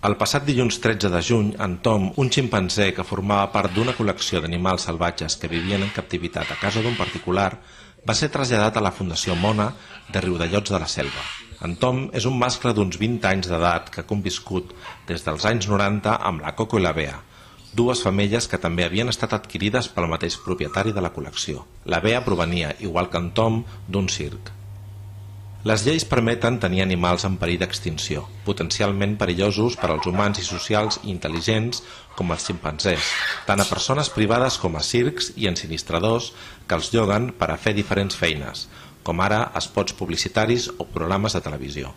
El passat dilluns 13 de juny, en Tom, un ximpanzé que formava part d'una col·lecció d'animals salvatges que vivien en captivitat a casa d'un particular, va ser traslladat a la Fundació Mona de Riudellots de la Selva. En Tom és un mascle d'uns 20 anys d'edat que ha conviscut des dels anys 90 amb la Coco i la Bea, dues femelles que també havien estat adquirides pel mateix propietari de la col·lecció. La Bea provenia, igual que en Tom, d'un circ. Les lleis permeten tenir animals en perill d'extinció, potencialment perillosos per als humans i socials i intel·ligents com els ximpanzés, tant a persones privades com a circs i ensinistradors que els lloguen per a fer diferents feines, com ara spots publicitaris o programes de televisió.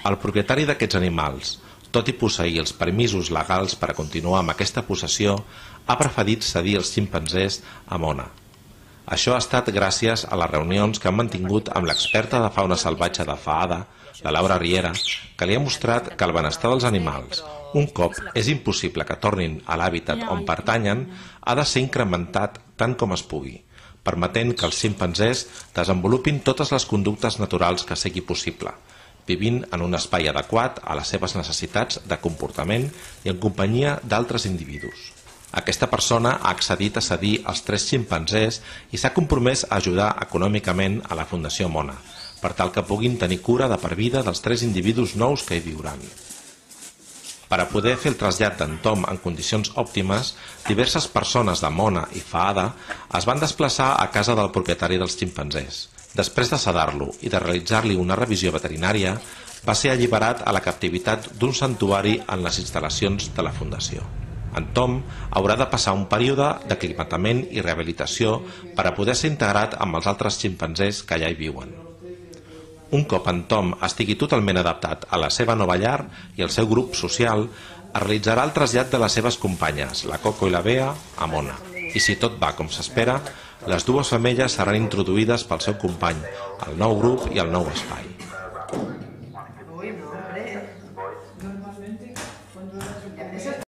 El propietari d'aquests animals, tot i posseir els permisos legals per a continuar amb aquesta possessió, ha preferit cedir els ximpanzés a Mona. Això ha estat gràcies a les reunions que han mantingut amb l'experta de fauna salvatge de Fahada, la Laura Riera, que li ha mostrat que el benestar dels animals, un cop és impossible que tornin a l'hàbitat on pertanyen, ha de ser incrementat tant com es pugui, permetent que els ximpanzés desenvolupin totes les conductes naturals que sigui possible, vivint en un espai adequat a les seves necessitats de comportament i en companyia d'altres individus. Aquesta persona ha accedit a cedir els 3 ximpanzés i s'ha compromès a ajudar econòmicament a la Fundació Mona, per tal que puguin tenir cura de per vida dels 3 individus nous que hi viuran. Per a poder fer el trasllat d'en Tom en condicions òptimes, diverses persones de Mona i Fahada es van desplaçar a casa del propietari dels ximpanzés. Després de sedar-lo i de realitzar-li una revisió veterinària, va ser alliberat a la captivitat d'un santuari en les instal·lacions de la Fundació. En Tom haurà de passar un període d'aclimatament i rehabilitació per a poder ser integrat amb els altres ximpanzés que allà hi viuen. Un cop en Tom estigui totalment adaptat a la seva nova llar i al seu grup social, es realitzarà el trasllat de les seves companyes, la Coco i la Bea, a Mona. I si tot va com s'espera, les dues femelles seran introduïdes pel seu company, al nou grup i al nou espai.